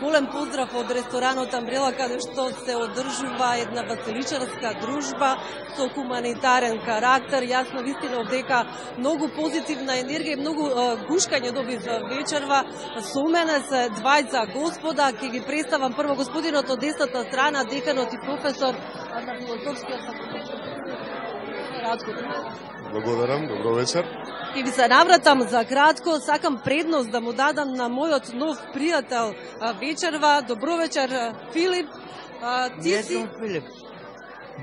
Голем поздрав од ресторанот Амбрела, каде што се одржува една веселичарска дружба со хуманитарен карактер. Јасно вистина дека многу позитивна енергија и многу гушкање добив вечерва. Со мене се двајца господа, ќе ги представам прво господинот од десната страна, деканот и професор на филозофскиот факултет. Благодарам, добро вечер. Ќе ви се навратам за кратко, сакам предност да му дадам на мојот нов пријател вечерва. Добро вечер, Филип. Не сум Филип.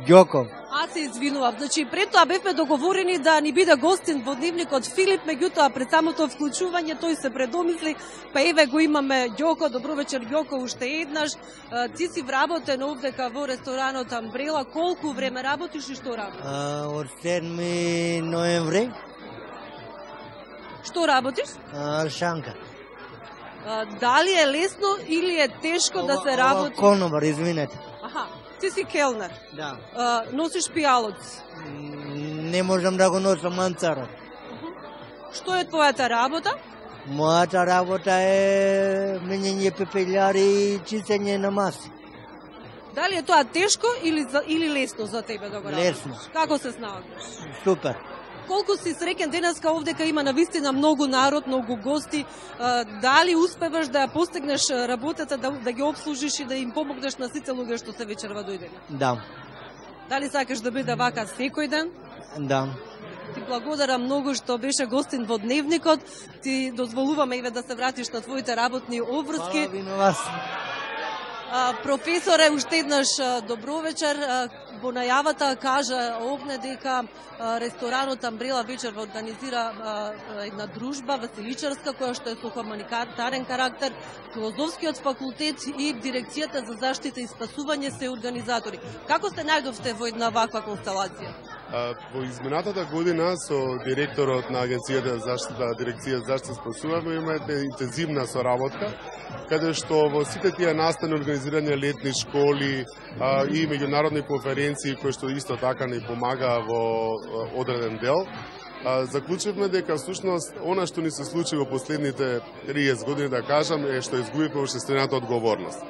Ѓоко. Аз се извинувам. Значи, пред тоа бевме договорени да ни биде гостин во дневникот Филип, меѓутоа пред самото вклучување тој се предомисли, па еве го имаме Ѓоко. Добро вечер, Ѓоко, уште еднаш. Ти си вработен овдека во ресторанот Амбрела. Колку време работиш и што работиш? Од 7 ноември. Што работиш? Шанка. Дали е лесно или е тешко да се работи? Конобар, извинете. Аха, ти си келнер. Да. Носиш пијалоци. Не можам да го носам манцарот. Што е твојата работа? Мојата работа е менење пепелјари и чистење на маси. Дали е тоа тешко или лесно за тебе да го работиш? Лесно. Како се снаоѓаш? Супер. Колку си среќен денеска овдека има навистина многу народ, многу гости. Дали успеваш да ја постигнеш работата, да ги обслужиш и да им помогнеш на сите луѓе што се вечерва дојдени? Да. Дали сакаш да биде вака секој ден? Да. Ти благодарам многу што беше гостин во дневникот. Ти дозволуваме еве да се вратиш на твоите работни обврски. Фала ви на вас. Професоре, уште еднаш добро вечер. Во најавата кажа овне дека ресторанот Амбрела вечерва организира една дружба веселичарска која што е со хуманитарен карактер. Филозофскиот факултет и дирекцијата за заштита и спасување се организатори. Како се најдовте во една ваква констелација? Во изминатата година со директорот на Агенцијата за заштита, дирекцијата за заштита и спасување имаме интензивна соработка, каде што во сите тие настани организирање летни школи и меѓународни конференции кои што исто така ни помага во одреден дел, заклучивме дека всушност она што ни се случи во последните 30 години, да кажам, е што изгубивме општествената одговорност.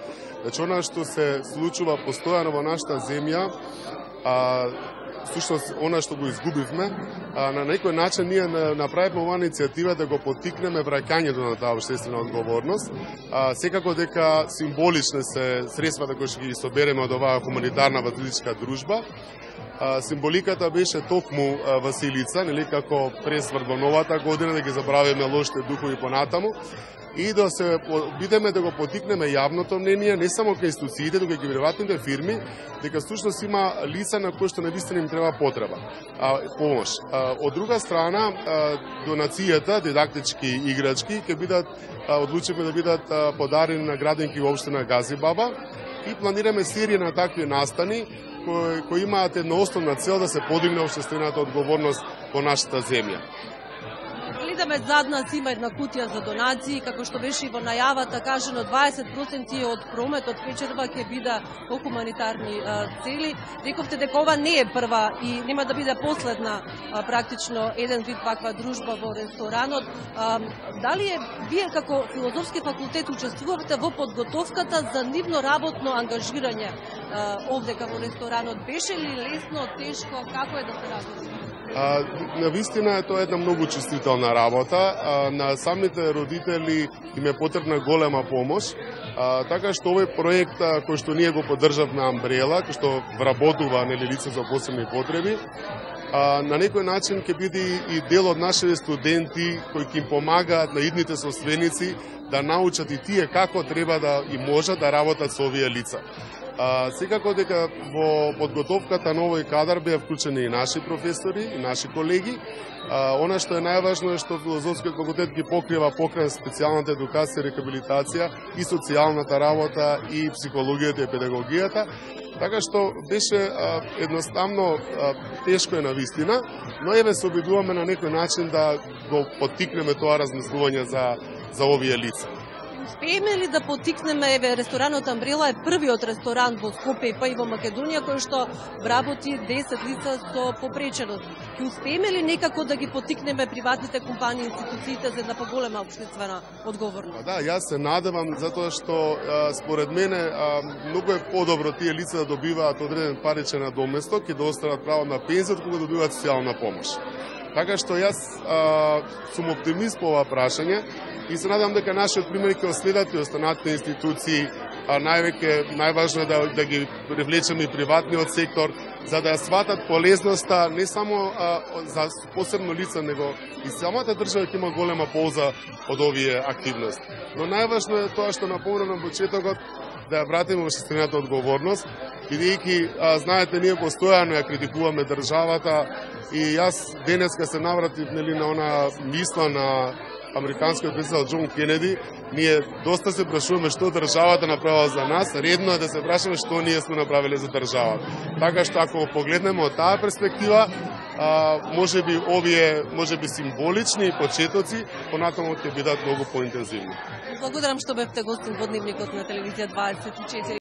Значи, она што се случува постојано во нашата земја, всушност она што го изгубивме, на некој начин ние направивме оваа иницијатива да го поттикнеме враќањето на таа општествена одговорност. Секако дека символични се средствата кои ќе ги собереме од оваа хуманитарна веселичка дружба. Символиката беше токму Василица, нели, како пресврт во новата година, да ги забравиме лошите духови понатаму и да се бидеме да го поттикнеме јавното мнение, не само кај институциите, туку и кај приватните фирми, дека всушност има лица на кои што навистина им треба потреба, помош. Од друга страна, донацијата, дидактички играчки, ќе бидат одлучивме да бидат подарени на градинки во општина Газибаба и планираме серија на такви настани кои имаат една основна цел да се подигне општествената одговорност во нашата земја. Гледаме зад нас има една кутија за донации, како што беше и во најавата кажано, 20% од прометот вечерва ќе биде по хуманитарни цели. Рековте дека ова не е прва и нема да биде последна практично еден вид ваква дружба во ресторанот. Дали вие како филозофски факултет учествувавте во подготовката за нивно работно ангажирање овдека во ресторанот? Беше ли лесно, тешко, како е да се работи? Навистина е тоа една многу чувствителна работа. На самите родители им е потребна голема помош, така што овој проект кој што ние го поддржавме Амбрела, кој што вработува лица за посебни потреби, на некој начин ќе биде и дел од нашите студенти кои ќе им помагаат на идните соственици да научат и тие како треба да и можат да работат со овие лица. Секако дека во подготовката на овој кадар беа вклучени и наши професори, и наши колеги. Она што е најважно е што филозофскиот факултет ги покрива покрај специјалната едукација, рехабилитација и социјалната работа и психологијата и педагогијата. Така што беше едноставно тешко е навистина, но еве се обидуваме на некој начин да го поттикнеме тоа размислување за овие лица. Успееме ли да потикнеме, еве, ресторанот Амбрела е првиот ресторан во Скопје па и во Македонија кој што вработи 10 лица со попреченост. Ќе успееме ли некако да ги потикнеме приватните компании, институциите за една поголема општествена одговорност? Да, јас се надевам затоа што според мене многу е подобро тие лица да добиваат одреден паричен надоместок и да остават право на пензија кога добиваат социјална помош. Така што јас сум оптимист по ова прашање и се надам дека нашиот пример ќе следат и останатите институции, најважно е да ги привлечеме и приватниот сектор, за да ја сватат полезноста не само за посебно лица, него и самата држава ќе има голема полза од овие активности. Но најважно е тоа што напомнав на почетокот, да ја вратиме општествената одговорност, бидејќи, знаете, ние постојано ја критикуваме државата и јас денеска се навратив на она мисла на американскиот председател Џон Кенеди. Ние доста се прашуваме што државата направила за нас, редно е да се прашуваме што ние сме направиле за државата. Така што ако погледнеме од таа перспектива, можеби овие символични почетоци понатаму ќе бидат многу поинтензивни. Благодарам што бевте гостин во Дневникот на телевизија 24.